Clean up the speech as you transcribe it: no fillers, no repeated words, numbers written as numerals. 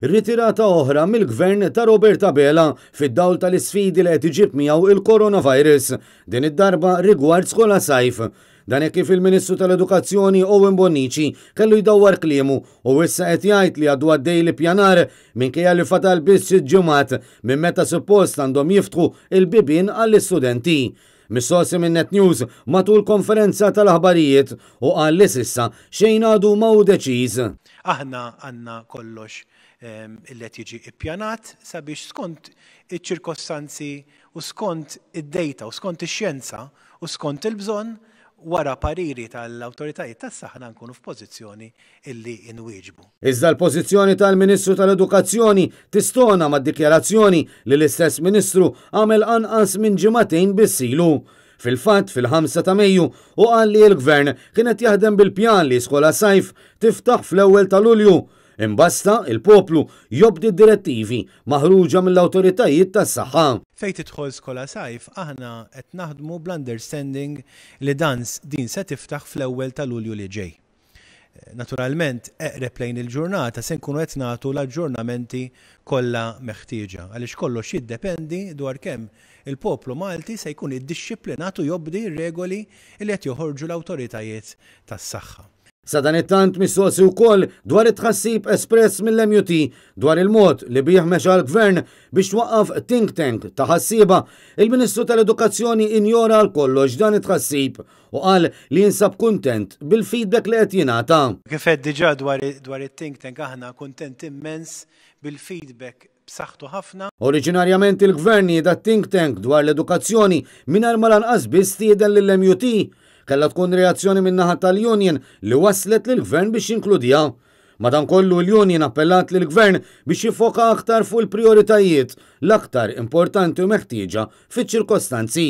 Ritirata oħra mill-Gvern ta' Robert Abela fid-dawl tal-isfidi li qed iġib miegħu il-coronavirus, din id-darba rigward Skola Sajf. Dan hekk kif il-Ministru tal-Edukazzjoni Owen Bonnici kellu jdawwar kliemu u issa qed jgħid li għadu għaddej l-ippjanar minkejja li fadal biss sitt ġimgħat minn meta suppost għandhom jiftħu l-bibien għall-istudenti. Mistoqsi minn Net News matul konferenza tal-aħbarijiet u qal li s'issa xejn għadu ma hu deċiż. Aħna għandna kollox illi qed jiġi ippjanat sabiex skont iċ-ċirkostanzi u skont id-data u skont ix-xjenza u skont il-bżonn wara pariri tal-awtoritajiet tas-saħħa nkunu f'pożizzjoni illi nwieġbu. Iżda l-pożizzjoni tal-Ministru tal-Edukazzjoni tistona mad-dikjarazzjoni li l-istess Ministru għamel anqas minn ġimagħtejn biss ilu. Fil-fatt, fil-5 ta' Mejju hu qal li l-Gvern kien qed jaħdem bil-pjan li Skola Sajf tiftaħ fl-ewwel ta' Lulju. Imbasta il-poplu jobdi d-direttivi maħruġa mill-awtoritajiet tas-saħħa. Fejn tidħol Skola Sajf aħna qed naħdmu bl-understanding li dan din se tiftaħ fl-ewwel ta' Lulju li ġej. Naturalment, eqreb lejn il-ġurnata se nkunu qed nagħtu l-aġġornamenti kollha meħtieġa, għaliex kollox jiddependi dwar kemm il-poplu Malti se jkun iddixxiplinat u jobdi r-regoli li qed joħorġu l-awtoritajiet tas-saħħa. Sadanittant mistoqsi wkoll dwar it-tħassib espress mill-MUT dwar il-mod li bih mexa l-Gvern biex twaqqaf think tank ta' ħassieba, il-Ministru tal-Edukazzjoni injora għal kollox dan it-tħassib u qal li jinsab kuntent bil-feedback li qed jingħata. Kif għedt diġà dwar it-think tank aħna kuntent immens bil-feedback b'saħħtu ħafna. Oriġinarjament il-Gvern nieda think tank dwar l-edukazzjoni mingħajr ma lanqas biss stieden lill-MUT. Kellha tkun reazzjoni min-naħa tal-union li wasslet lill-Gvern biex jinkludiha. Madankollu l-union appellat lill-Gvern biex jiffoka aktar fuq il-prijoritajiet l-aktar importanti u meħtieġa fiċ-ċirkostanzi.